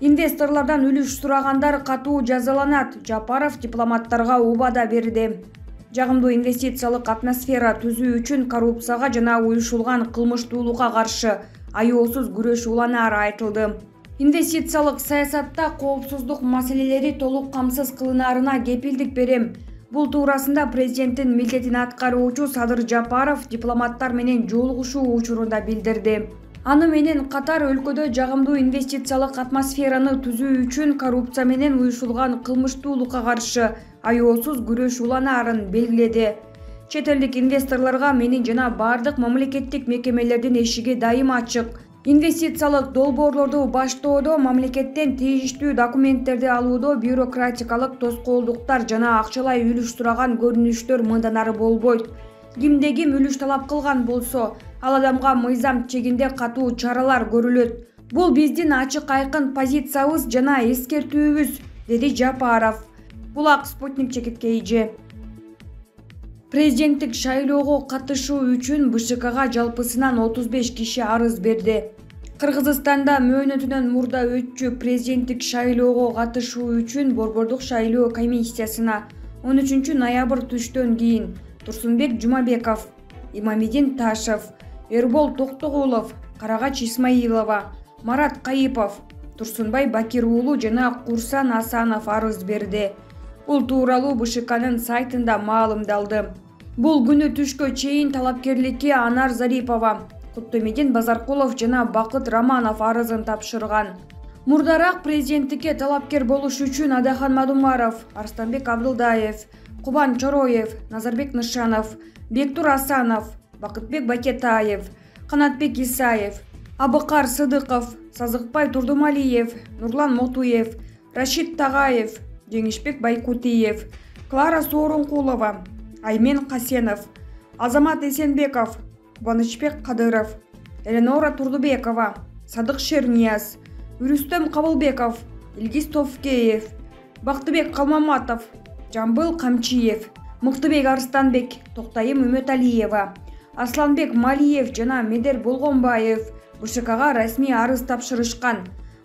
Инвесторлордон үлүш сурагандар катуу жазаланат. Жапаров дипломаттарга убада берди. Жагымдуу инвестициялык атмосфера түзүү үчүн коррупцияга жана уюшулган кылмыштуулукка каршы аеосуз күрөш уланары айтылды. Инвестициялык саясатта коопсуздук маселелери толук камсыз кылынаарына кепилдик берем. Бул туурасында президенттин милдетин аткаруучу Садыр Жапаров дипломаттар менен жолугушуу учурунда билдирди. Аны менен катар өлкөдө жагымдуу инвестициялык атмосфераны түзүү үчүн коррупция менен уюшулган кылмыштуулукка каршы аеосуз күрөш уланаарын белгиледи. Чет элдик инвесторлорго менин жана бардык мамлекеттик мекемелердин эшиги дайым ачык. Инвестициялык долбоорлорду баштоодо, мамлекеттен тийиштүү документтерди алуудо бюрократикалык тоскоолдуктар жана акчалай үлүш сураган көрүнүштөр мындан ары болбойт. Кимде ким үлүш талап кылган болсо, ал адамга мыйзам чегинде катуу чаралар көрүлөт. Бул биздин ачык айкын позициябыз жана эскертүүбүз, деди Жапаров. Булак Спутник чекиткейи. Президенттик шайлоого катышуу үчүн БШКга жалпысынан 35 киши арыз берди. Кыргызстанда мөөнөтүнөн мурда өтчү президенттик шайлоого катышуу үчүн Борбордук шайлоо комиссиясына 13 ноябрь түштөн кийин Турсунбек Жумабеков, Имамидин Ташев, Эрбол Токтогулов, Карагач Исмаилова, Марат Кайыпов, Турсунбай Бакир уулу жана Курсан Асанов арыз берди. Бул тууралуу БШКнын сайтында маалымдалды. Бул күнү түшкө чейин талапкерликке Анар Зарипова, Куттумидин Базаркулов жана Бакыт Романов арызын тапшырган. Мурдараак президенттикке талапкер болуш үчүн Адахан Мадумаров, Арстанбек Абдылдаев, Кубан Чороев, Назарбек Нышанов, Бектур Асанов, Бакытбек Бакетаев, Канатбек Исаев, Абыкар Сыдыков, Сазыкбай Турдумалиев, Нурлан Мотуев, Рашид Тагаев, Жеңишбек Байкутиев, Клара Соорункулова, Аймен Касенов, Азамат Эсенбеков, Кубанычбек Кадыров, Эленора Турдубекова, Садык Шернияз, Үрүстөм Кабылбеков, Илгиз Товкеев, Бактыбек Калмаматов, Жамбыл Камчиев, Мыктыбек Арстанбек, Токтайым Үмөталиева, Асланбек Малиев жана Медер Болгонбаев БШКга расмий арыз тапшырышкан.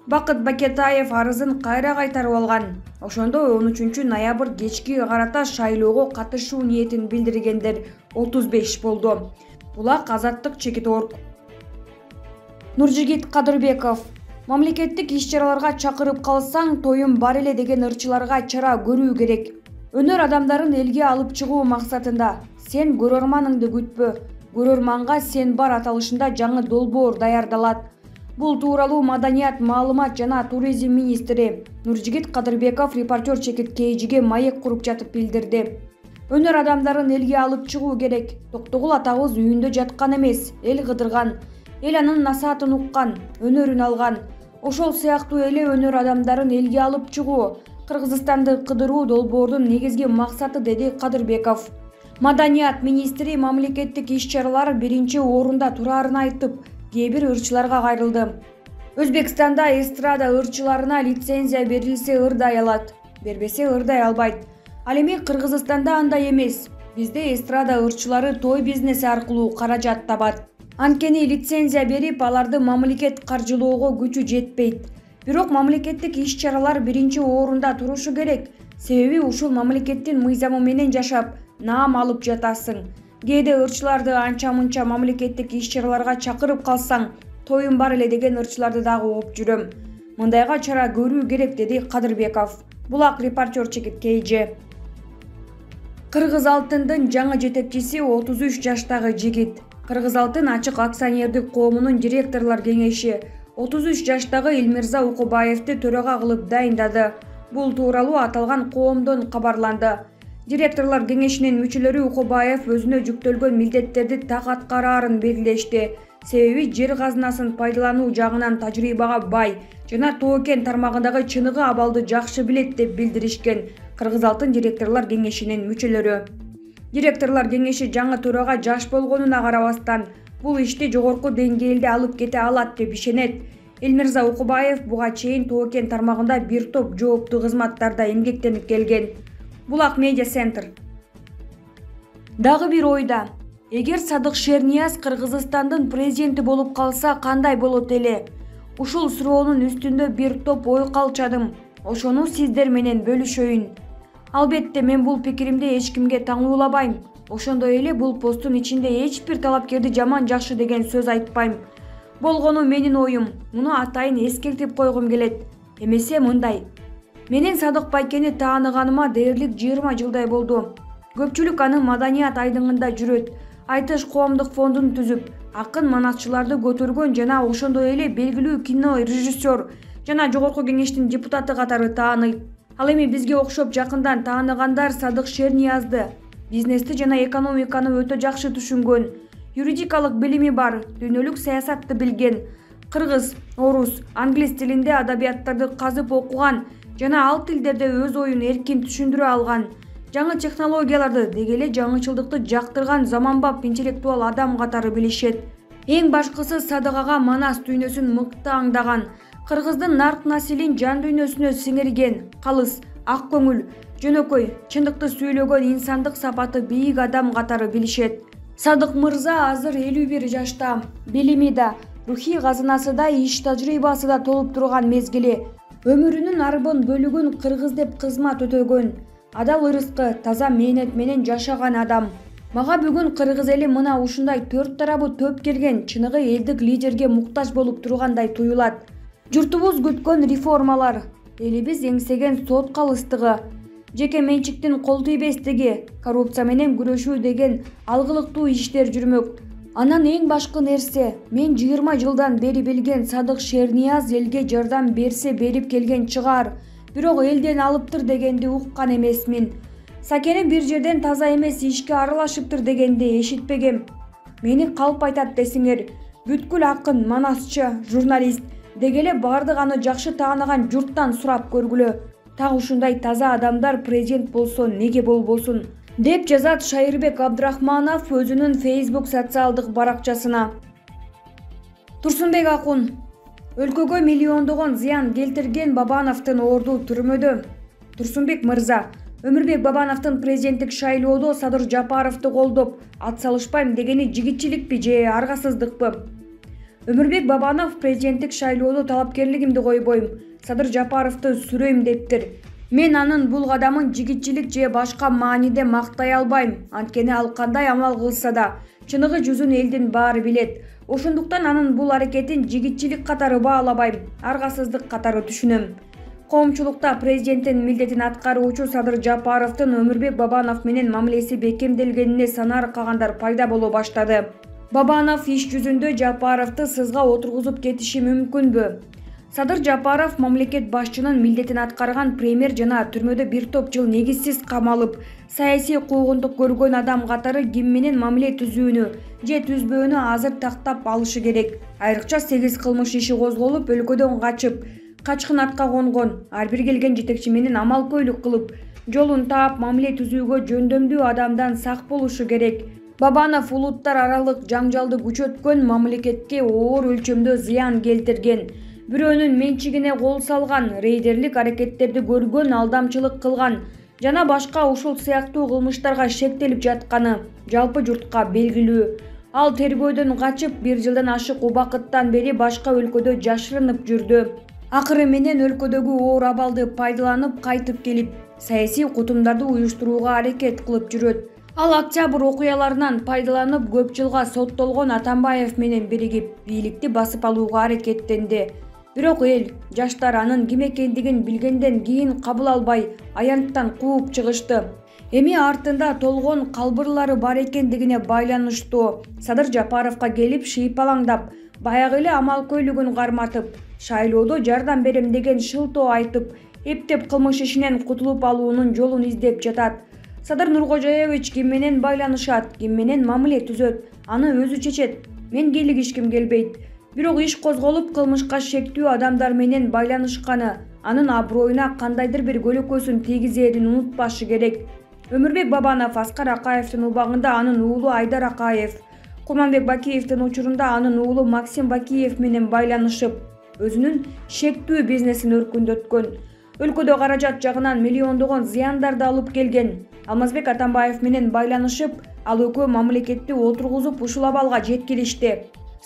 Бакыт Бакетаев арызын кайра кайтарып алган. Ошондо 13 ноябрь кечки карата шайлоого катышуу ниетин билдиргендер 35 болду. Булак Азаттык Чекит.орг. Нуржигит Кадырбеков. Мамлекеттик иш-чараларга чакырып калсаң, тоюм бар эле деген ырчыларга чара көрүү керек. Өнөр адамдарын элге алып чыгуу максатында сен көрөрманыңды күтпө. Көрөрманга сен бар аталышында жаңы долбоор даярдалат. Бул тууралуу Маданият, маалымат жана туризм министри Нуржигит Кадырбеков репортер Чекиткейиге маек куруп жатып билдирди. Өнөр адамдарын элге алып чыгуу керек. Токтогул атабыз үйүндө жаткан эмес, эл кыдырган, эл анын насаатын уккан, өнөрүн алган. Ошол сыяктуу эле өнөр адамдарын элге алып чыгуу Кыргызстанды кыдыруу долбоордун негизги максаты, деди Кадырбеков. Маданият министри мамлекеттик иш-чаралар биринчи орунда турарын айтып, кээ бир ырчыларга кайрылды. Өзбекстанда эстрада ырчыларына лицензия берилсе ырдай алат, бербесе ырдай албайт. Ал эми Кыргызстанда андай эмес. Бизде эстрада ырчылары той бизнеси аркылуу каражат табат. Анткени лицензия берип, аларды мамлекет каржылоого күчү жетпейт. Бирок мамлекеттик иш-чаралар биринчи орунда турушу керек. Себеби ушул мамлекеттин мыйзамы менен жашап, наам алып жатасың. Кээде ырчыларды анча-мынча мамлекеттик иш-чараларга чакырып калсаң, тоюм бар эле деген ырчыларды дагы ооп жүрөм. Мындайга чара көрүү керек, деди Кадырбеков. Булак репортер Чекиткейи. Кыргыз алтындын жаңы жетекчиси 33 жаштагы жигит. Кыргыз алтын ачык акционердик коомунун директорлор кеңеши 33 жаштагы Элмирза Укубаевди төрага кылып дайындады. Бул тууралуу аталган коомдон кабарланды. Директорлор кеңешинин мүчөлөрү Укубаев өзүнө жүктөлгөн милдеттерди так аткараарын белгилешти. Себеби жер казынасын пайдалануу жагынан тажрыйбага бай жана тоо-кен тармагындагы чыныгы абалды жакшы билет деп билдиришкен Кыргыз алтын директорлор кеңешинин мүчөлөрү. Директорлор кеңеши жаңы төрага жаш болгонуна карабастан бул ишти жогорку деңгээлде алып кете алат деп ишенет. Элмирза Укубаев буга чейин тоо-кен тармагында бир топ жооптуу кызматтарда эмгектенип келген. Булак медиа центр. Дагы бир ойда. Эгер Садык Шернияз Кыргызстандын президенти болуп калса кандай болот эле? Ушул суроонун үстүндө бир топ ой калчадым. Ошону сиздер менен бөлүшөйүн. Албетте мен бул пикиримди эч кимге таңуулабайм. Ошондой эле бул посттун ичинде эч бир талапкерди жаман жакшы деген сөз айтпайм. Болгону менин оюм. Муну атайын эскертип койгум келет. Эмесе мындай. Менин Садык байкени тааныганыма дээрлик 20 жылдай болду. Көпчүлүк аны маданият айдыңында жүрөт. Айтыш коомдук фондун түзүп, акын манасчыларды көтөргөн жана ошондой эле белгилүү кино режиссер жана жогорку кеңештин депутаты катары тааныйт. Ал эми бизге окшоп жакындан тааныгандар Садык Шерниязды бизнести жана экономиканы өтө жакшы түшүнгөн, юридикалык билими бар, дүйнөлүк саясатты билген, кыргыз, орус, англис тилинде адабияттарды казып окуган жана ал тилдерде өз оюн эркин түшүндүрө алган, жаңы технологияларды деги эле жаңычылдыкты жактырган заманбап интеллектуал адам катары билишет. Эң башкысы Садык ага манас дүйнөсүн мыкты аңдаган, кыргыздын нарк насилин жан дүйнөсүнө сиңирген, калыс, ак көңүл, жөнөкөй, чындыкты сүйлөгөн инсандык сапаты бийик адам катары билишет. Садык мырза азыр 51 жашта, билими да, рухий казынасы да, иш тажрыйбасы да толуп турган мезгили. Өмүрүнүн арбын бөлүгүн кыргыз деп кызмат өтөгөн. Адал ырыскы, таза мээнет менен жашаган адам. Мага бүгүн кыргыз эли мына ушундай төрт тарабы төп келген чыныгы элдик лидерге муктаж болуп тургандай туюлат. Журтубуз күткөн реформалар, элибиз эңсеген сот калыстыгы, жеке менчиктин кол тийбестиги, коррупция менен күрөшүү деген алгылыктуу иштер жүрмөк. Анан эң башкы нерсе, мен 20 жылдан бери билген Садык Шернияз элге жардам берсе берип келген чыгар, бирок элден алыптыр дегенди уккан эмесмин. Сакени бир жерден таза эмес ишке аралашыптыр дегенди эшитпегем. Мени калп айтат десиңер, бүткүл акын, манасчы, журналист деги эле бардык аны жакшы тааныган журттан сурап көргүлө. Так ушундай таза адамдар президент болсо неге болбосун, деп жазат Шайырбек Абдрахманов өзүнүн Facebook социалдык баракчасына. Турсунбек Акун. Өлкөгө миллиондогон зыян келтирген Бабановдун орду түрмөдө. Турсунбек мырза, Өмүрбек Бабановдун президенттик шайлоодо Садыр Жапаровду колдоп, ат салышпайм дегени жигитчиликпи же аргасыздыкпы? Өмүрбек Бабанов президенттик шайлоодо талапкерлигимди койбойм, Садыр Жапаровду сүрөйм дептир. Мен анын бул кадамын жигитчилик же башка мааниде мактай албайм. Анткени ал кандай амал кылса да, чыныгы жүзүн элдин баары билет. Ошондуктан анын бул аракетин жигитчилик катары баалабайм, аргасыздык катары түшүнөм. Коомчулукта президенттин милдетин аткаруучу Садыр Жапаровдун Өмүрбек Бабанов менен мамилеси бекемделгенине санаар кагандар пайда боло баштады. Бабанов иш жүзүндө Жапаровду сызга отургузуп кетиши мүмкүнбү? Садыр Жапаров мамлекет башчынын милдетин аткарган премьер жана түрмөдө бир топ жыл негизсиз камалып, саясий куугунтук көргөн адам катары ким менен мамиле түзүүнү же түзбөөнү азыр тактап алышы керек. Айрыкча 8 кылмыш иши козголуп, өлкөдөн качып, качкын атка конгон, ар бир келген жетекчи менен амалкөйлүк кылып, жолун таап мамиле түзүүгө жөндөмдүү адамдан сак болушу керек. Бабанов улуттар аралык жаңжалды күчөткөн, мамлекетке оор өлчөмдө зыян келтирген, бирөөнүн менчигине кол салган, рейдерлик аракеттерди көргөн, алдамчылык кылган жана башка ушул сыяктуу кылмыштарга шектелип жатканы жалпы журтка белгилүү. Ал тергөөдөн качып, 1 жылдан ашык убакыттан бери башка өлкөдө жашырынып жүрдү. Акыры менен өлкөдөгү оор абалды пайдаланып кайтып келип, саясий кутумдарды уюштурууга аракет кылып жүрөт. Ал октябрь окуяларынан пайдаланып көп жылга соттолгон Атамбаев менен биригип, бийликти басып алууга аракеттенди. Бирок эл, жаштар анын ким экендигин билгенден кийин кабыл албай, аянттан кууп чыгышты. Эми артында толгон калбырлары бар экендигине байланыштуу Садыр Жапаровго келип шыйпалаңдап, баягы эле амалкөйлүгүн карматып, шайлоодо жардам берем деген шылтоо айтып, эптеп кылмыш ишинен кутулуп алуунун жолун издеп жатат. Садыр Нуркожоевич ким менен байланышат, ким менен мамиле түзөт, аны өзү чечет. Мен кийлигишким келбейт. Бирок иш козголуп, кылмышка шектүү адамдар менен байланышканы анын аброюна кандайдыр бир көлөкөсүн тийгизээрин унутпашы керек. Өмүрбек Бабанов Аскар Акаевдин убагында анын уулу Айдар Акаев, Курманбек Бакиевдин учурунда анын уулу Максим Бакиев менен байланышып, өзүнүн шектүү бизнесин өркүндөткөн. Өлкөдө каражат жагынан миллиондогон зыяндарды алып келген. Алмазбек Атамбаев менен байланышып, Ал экөө мамлекетти отургузуп ушул абалга жеткиришти.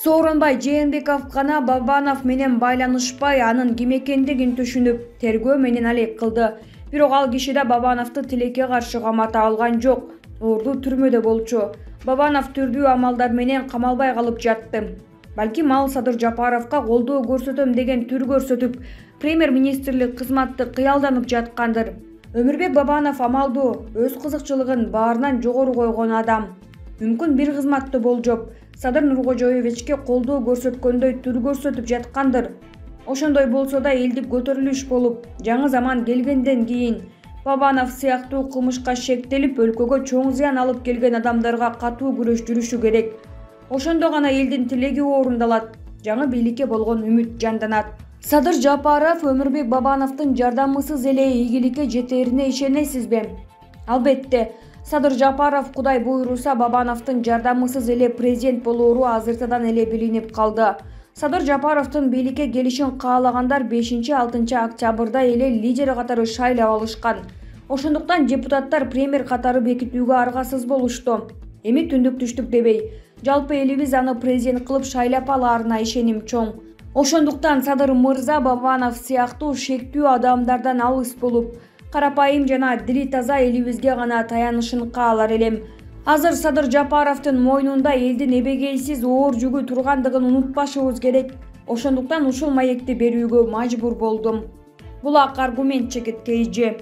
Сооронбай Жээнбеков гана Бабанов менен байланышпай, анын ким экендигин түшүнүп, тергөө менен алек кылды. Бирок ал киши да Бабановду тилекке каршы камата алган жок. Орду түрмөдө болчу. Бабанов түрдүү амалдар менен камалбай калып жатты. Балким ал Садыр Жапаровго колдоо көрсөтөм деген түр көрсөтүп, премьер-министрлик кызматты кыялданып жаткандыр. Өмүрбек Бабанов амалдуу, өз кызыкчылыгын баарынан жогору койгон адам. Мүмкүн бир кызматтуу болжоп, Садыр Нуркожоевичке колдоо көрсөткөндөй түр көрсөтүп жаткандыр. Ошондой болсо да элдик көтөрүлүш болуп, жаңы заман келгенден кийин Бабанов сыяктуу кылмышка шектелип, өлкөгө чоң зыян алып келген адамдарга катуу күрөш жүрүшү керек. Ошондо гана элдин тилеги орундалат, жаңы бийликке болгон үмүт жанданат. Садыр Жапаров Өмүрбек Бабановдун жардамысыз эле ийгиликке жетерине ишенесизби? Албетте, Садыр Жапаров Кудай буйруса Бабановдун жардамысыз эле президент болоору азыртадан эле билинип калды. Садыр Жапаровдун бийликке келишин каалагандар 5-6 октябрда эле лидер катары шайлап алышкан. Ошондуктан депутаттар премьер катары бекитүүгө аргасыз болушту. Эми түндүк түштүк дебей, жалпы элибиз аны президент кылып шайлап алаарына ишеним чоң. Ошондуктан Садыр мырза Бабанов сыяктуу шектүү адамдардан алыс болуп, карапайым жана дили таза элибизге гана таянышын каалар элем. Азыр Садыр Жапаровдун мойнунда элдин эбегейсиз оор жүгү тургандыгын унутпашыбыз керек. Ошондуктан ушул маекти берүүгө мажбур болдум. Булак аргумент, жигит, KG.